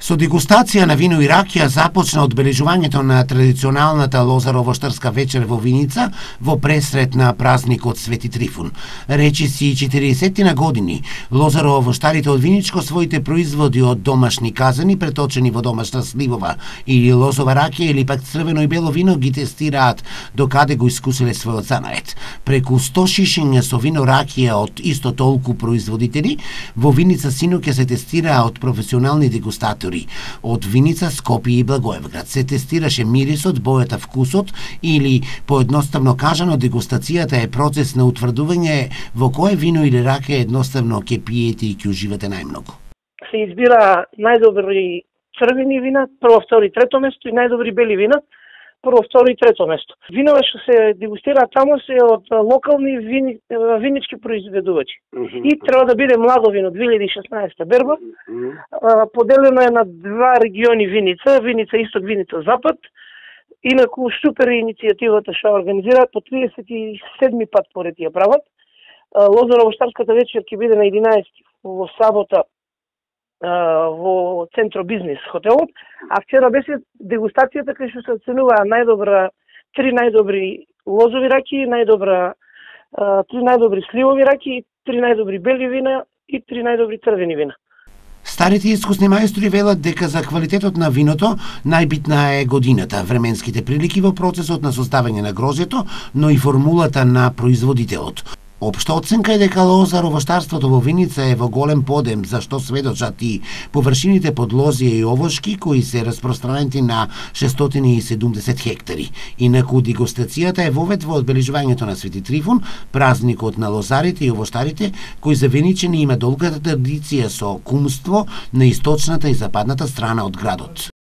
Со дегустација на вино и ракија започна одбележувањето на традиционалната лозарово-штарска вечер во Виница во пресрет на празникот Свети Трифун. Речиси 40 години, лозарово-штарите од Виничко своите производи од домашни казани, преточени во домашна сливова или лозова ракија или пак црвено и бело вино ги тестираат докаде го искусиле својот занает. Преку 100 шишиња со вино ракија од исто толку производители, во Виница синоќа се тестираа од професионални дегустатори од Виница, Скопје и Благоевград. Се тестираше мирисот, бојата, вкусот или, поедноставно кажано, дегустацијата е процес на утврдување во кое вино или ракија едноставно ќе пиете и ќе уживате најмногу. Се избира најдобри црвени вина, прво, второ и трето место, и најдобри бели вина, прво, второ и трето место. Винова што се дегустираат таму се од локални винички произведувачи. И треба да биде младо вино, 2016 берба. Поделено е на два региони Виница, Виница Исток, Виница Запад. Инаку супер иницијативата што организираат по 37 пат поред ја прават. Лозарово-штарската вечер ќе биде на 11 во сабота во Центро Бизнес хотелот, а вчера беше дегустацијата кај што се оценуваа три најдобри лозови раки, три најдобри сливови раки, три најдобри бели вина и три најдобри црвени вина. Старите искусни мајстори велат дека за квалитетот на виното најбитна е годината, временските прилики во процесот на составање на грозјето, но и формулата на производителот. Општа оценка е дека лозарово-штарството во Виница е во голем подем, за што сведочат и површините под лозија и овошки кои се распространети на 670 хектари. Инаку дегустацијата е вовед во одбележувањето на Свети Трифун, празникот на лозарите и овоштарите, кој за виничани има долга традиција со кумство на источната и западната страна од градот.